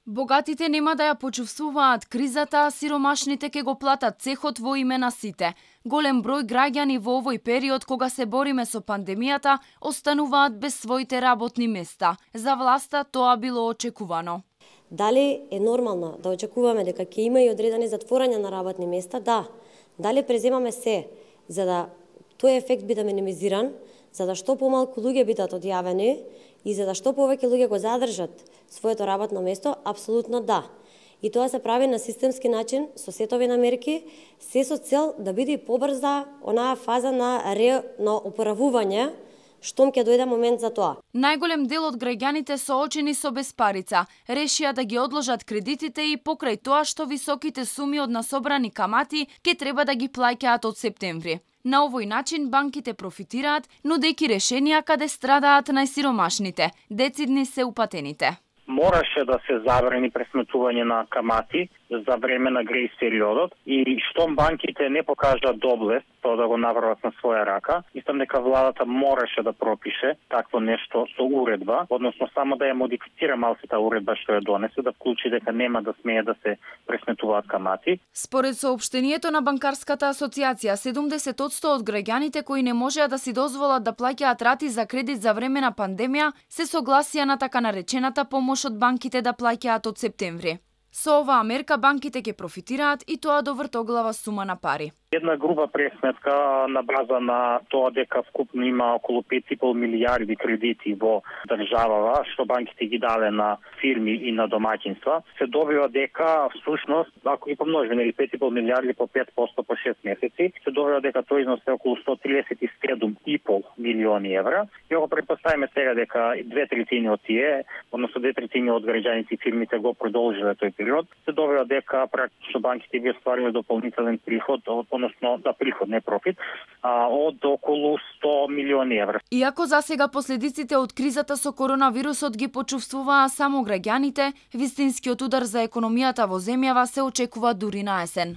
Богатите нема да ја почувствуваат кризата, а сиромашните ќе го платат цехот во име на сите. Голем број граѓани во овој период кога се бориме со пандемијата остануваат без своите работни места. За власта тоа било очекувано. Дали е нормално да очекуваме дека ќе има и одредени затворања на работни места? Да. Дали преземаме се за да тој ефект биде минимизиран, за да што помалку луѓе бидат одјавени и за да што повеќе луѓе го задржат своето работно место? Апсолутно да. И тоа се прави на системски начин, со сетови на мерки, се со цел да биде побрза онаа фаза на опоравување, штом ќе дојде момент за тоа. Најголем дел од граѓаните соочени со безпарица решија да ги одложат кредитите и покрај тоа што високите суми од насобрани камати ќе треба да ги плаќаат од септември. На овој начин банките профитираат, нудејќи решенија каде страдаат најсиромашните, децидни се упатените. Мораше да се забрани пресметување на камати за време на грејс периодот и штом банките не покажат доблест тоа да го направат на своја рака, мислам дека владата мораше да пропише такво нешто со уредба, односно само да ја модифицира малку таа уредба што ја донесе, да вклучи дека нема да смее да се пресметуваат камати. Според соопштението на Банкарската асоциација, 70% од граѓаните кои не можеа да си дозволат да плаќаат рати за кредит за време на пандемија се согласија на така наречената помош од банките да плаќаат од септември. Со оваа мерка банките ќе профитираат и тоа до вртоглава сума на пари. Една груба пресметка на база на тоа дека вкупно има околу 5,5 милијарди кредити во државава, што банките ги даве на фирми и на домаќинства, се добива дека всушност, ако ги помножиме 5,5 милијарди по 5% по 6 месеци, се добива дека тој износ е околу 137,5 милиони евра. И ако претпоставиме сега дека 2/3 од тие, односно 2/3 од граѓаните и фирмите го продолжиле тој период, се добива дека практично банките би оствариле дополнителен приход, односно да приход, не профит, од околу 100 милиони евра. Иако засега последиците од кризата со коронавирусот ги почувствуваа само граѓаните, вистинскиот удар за економијата во земјава се очекува дури на есен.